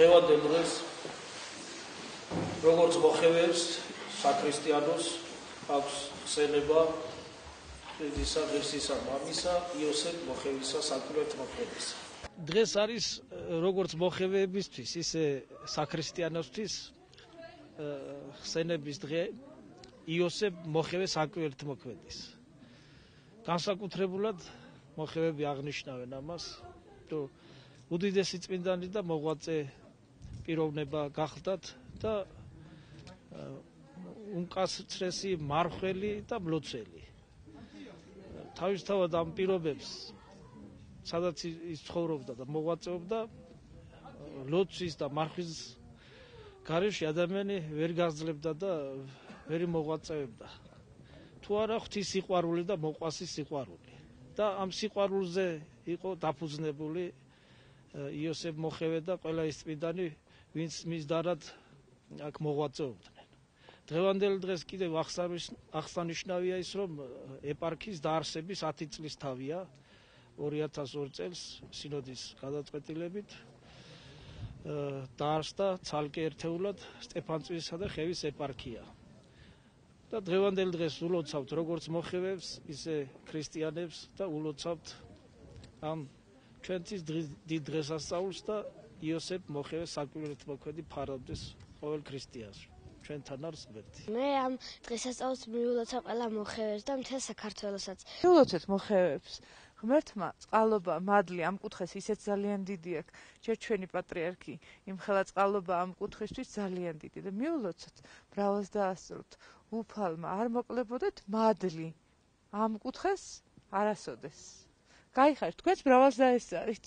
დღევანდელ დღეს როგორც მოხევებს საქრისტიანოს აქვს ხსენება ღვთისა ღირსისა მამისა იოსებ მოხევისა საკვირველთმოქმედისა. დღეს არის როგორც მოხევებისთვის, ისე საქრისტიანოსთვის ხსენების დღე იოსებ მოხევე საკვირველთმოქმედის. განსაკუთრებულად მოხევები აღნიშნავენ ამას, რომ უდიდესი წმინდანი და მოღვაწე პიროვნება გახლდათ და უმკაცრესი მარხველი და მლოცველი. თავისთავად ამ პირობებს, სადაც ის ცხოვრობდა და მოღვაწეობდა, ლოცვის და მარხვის გარეშე ადამიანი ვერ გაძლევდა და ვერ მოღვაწეობდა. თუ არა ღვთის სიყვარული და მოყვასის სიყვარული. და ამ სიყვარულზე იყო დაფუძნებული იოსებ მოხევე და ყველა ის წმინდანი, ვინც მის დარად აქ მოღვაწეობდნენ. დღევანდელ დღეს კიდევ აღსანიშნავია ის, რომ ეპარქიის დაარსების 10 წლის თავია 2002 წელს სინოდის გადაწყვეტილებით დაარსდა ცალკე ერთეულად სტეფანწმინდისა და ხევის ეპარქია. და დღევანდელ დღეს ულოცავთ როგორც მოხევებს, ისე ქრისტიანებს და ულოცავთ ამ ჩვენთვის დიდ დღესასწაულს და იოსებ მოხევეს საკვირველთმოქმედი ფარავდეს ყოველ ქრისტიანს. ჩვენთან არის ღმერთი. მე ამ დღესასწაულს მიულოცავ ყველა მოხევებს და მთელ საქართველოსაც. მიულოცეთ მოხევებს. ღმერთმა წყალობა, მადლი ამ კუთხეს ისეთ ძალიან დიდი აქვს. ჯერ ჩვენი პატრიარქი იმხელა წყალობა ამ კუთხისთვის ძალიან დიდი და მიულოცოთ, მრავლს დაასწროთ. უფალმა არ მოკლებოდეთ მადლი ამ კუთხეს არასოდეს. გაიხარეთ, თქვენც მრავლს დაესწარით.